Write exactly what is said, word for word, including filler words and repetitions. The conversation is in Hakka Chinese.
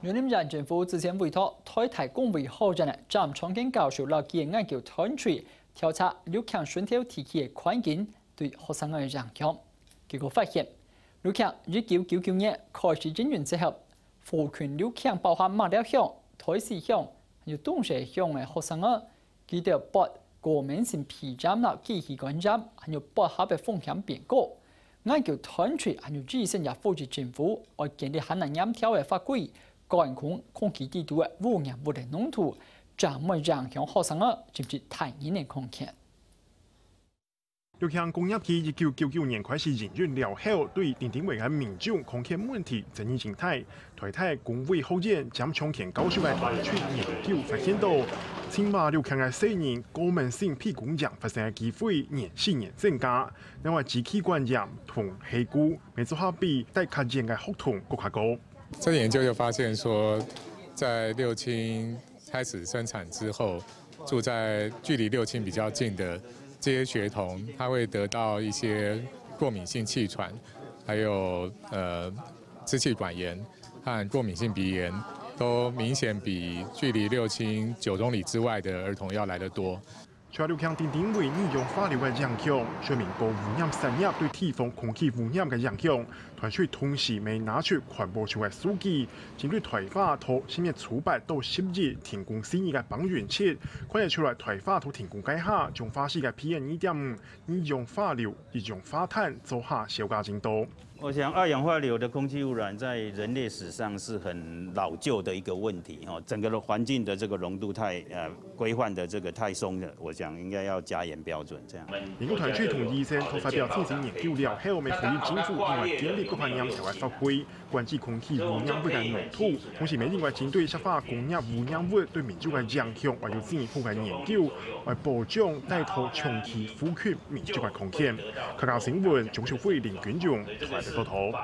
雲林縣政府之前委託臺大公衛學院个詹昌健教授摎佢个研究團隊調查六輕脣頭地區个環境對學生仔个影響。結果發現，六輕一九九九年開始營運之後，附近六輕包含馬寮鄉、臺西鄉、還有東勢鄉个學生仔， 佢兜發過敏性鼻炎摎支氣管炎，還有發燒个風險變高。研究團隊還有醫生也呼籲政府愛建立還較嚴條个法規，管控空氣裡肚个污染物个濃度，正毋會影響學生仔甚至大人个康健。六輕工業區一九九九年開始營運了後，對丁丁圍个民眾康健問題爭議真大。 臺大公衛學院詹昌健教授个團隊研究發現到，清華六輕个細人過敏性鼻竇炎發生个機會年四年增加，另外支氣管炎同痚呴乜做下比戴較嚴个學童閣較高。這研究就發現說，在六輕開始生產之後，住在距離六輕比較近的這些學童，他會得到一些過敏性氣喘，還有呃支氣管炎和過敏性鼻炎，都明顯比距離六輕九公里之外的兒童要來得多。 除了六輕丁丁圍二氧化硫个影響，說明高污染產業對地方空氣污染个影響，團隊同時乜拿出環保署个數據，針對臺大到十月初八到十一停工四日个芳園區，看得出來臺大到停工該下，彰化市个PM二點五、二氧化硫、一氧化碳做下小加增多。 我想二氧化硫的空氣污染在人類史上是很老舊的一個問題哈，整個的環境的這個濃度太呃規範的這個太鬆了，我想應該要加嚴標準這樣。研究團隊同醫生都發表進行研究了後，乜呼籲政府另外建立各項嚴格个法規，管制空氣污染物个濃度，同時乜另外針對石化工業污染物對民眾个影響，還有進一步个研究，來保障戴到長期附近民眾个空間。客家新聞鍾秀慧、林君勇台北報導。